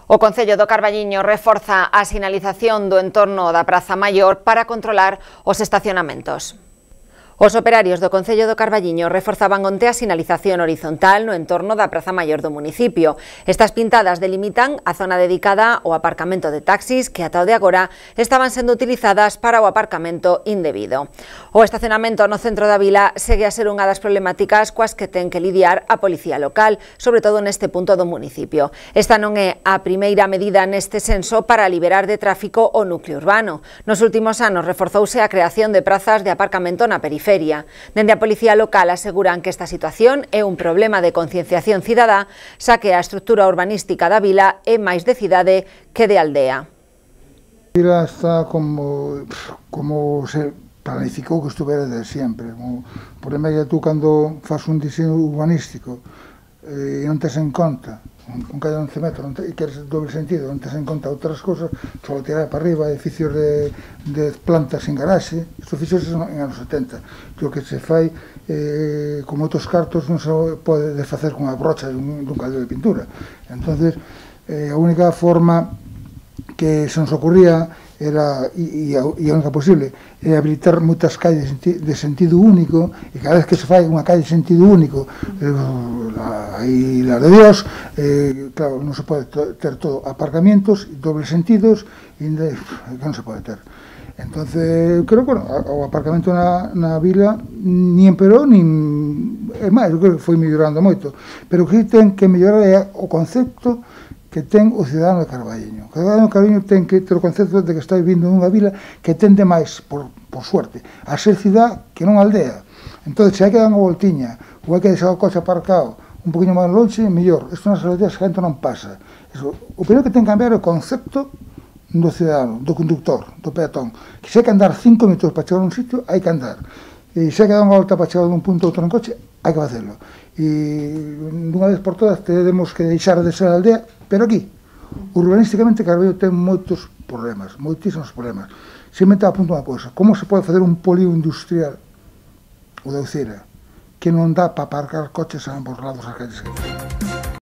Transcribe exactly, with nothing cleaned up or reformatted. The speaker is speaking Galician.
O Concello do Carballiño reforza a sinalización do entorno da Praza Maior para controlar os estacionamentos. Os operarios do Concello do Carballiño reforzaban onte a sinalización horizontal no entorno da Praza Maior do municipio. Estas pintadas delimitan a zona dedicada ao aparcamento de taxis que ata o de agora estaban sendo utilizadas para o aparcamento indebido. O estacionamento no centro da vila segue a ser unha das problemáticas coas que ten que lidiar a policía local, sobre todo neste punto do municipio. Esta non é a primeira medida neste senso para liberar de tráfico o núcleo urbano. Nos últimos anos reforzouse a creación de prazas de aparcamento na periferia. Dende a Policía Local aseguran que esta situación é un problema de concienciación cidadá, xa que a estrutura urbanística da vila é máis de cidade que de aldea. A vila está como, como se planificou que estuvera de sempre. O problema é que tú, cando faz un diseño urbanístico e non tes en conta un calle de once metros e queres doble sentido, non tes en conta outras cousas, só tirar para arriba edificios de, de plantas sin garaxe. Isto fixose en anos setenta. O que se fai, eh, como outros cartos, non se pode desfacer con a brocha dun, dun caldo de pintura. Entonces, eh, a única forma que se nos ocurría era, e, e, a, e a única posible, é habilitar moitas calles de sentido único, e cada vez que se fai unha calle de sentido único, eh, aí la de Dios, eh, claro, non se pode ter todo aparcamientos, dobles sentidos, e que non se pode ter. Entonces, creo que bueno, o aparcamento na, na vila ni emperou, nin é máis, eu creo que foi mellorando moito, pero o que ten que mellorar é o concepto que ten o cidadano de Carballiño. O cidadano de Carballiño ten que ter o concepto de que está vivindo nunha vila que tende máis, por, por suerte, a ser cidade que non aldea. Entón, se hai que dar unha voltiña, ou hai que deixar o coche aparcado un poquinho máis longe, mellor. Isto nas aldeas a gente non pasa. Eso, o primeiro que ten que cambiar é o concepto do cidadano, do conductor, do peatón. Que se hai que andar cinco minutos para chegar a un sitio, hai que andar. E se hai que dar unha volta para chegar dun punto a outro en coche, hai que facelo. E dunha vez por todas temos que deixar de ser aldea, pero aquí, urbanísticamente, Carballo ten moitos problemas, moitísimos problemas. Sempre a punto unha cousa, como se pode facer un polígono industrial, o de Ucira, que non dá para aparcar coches a ambos lados das calles?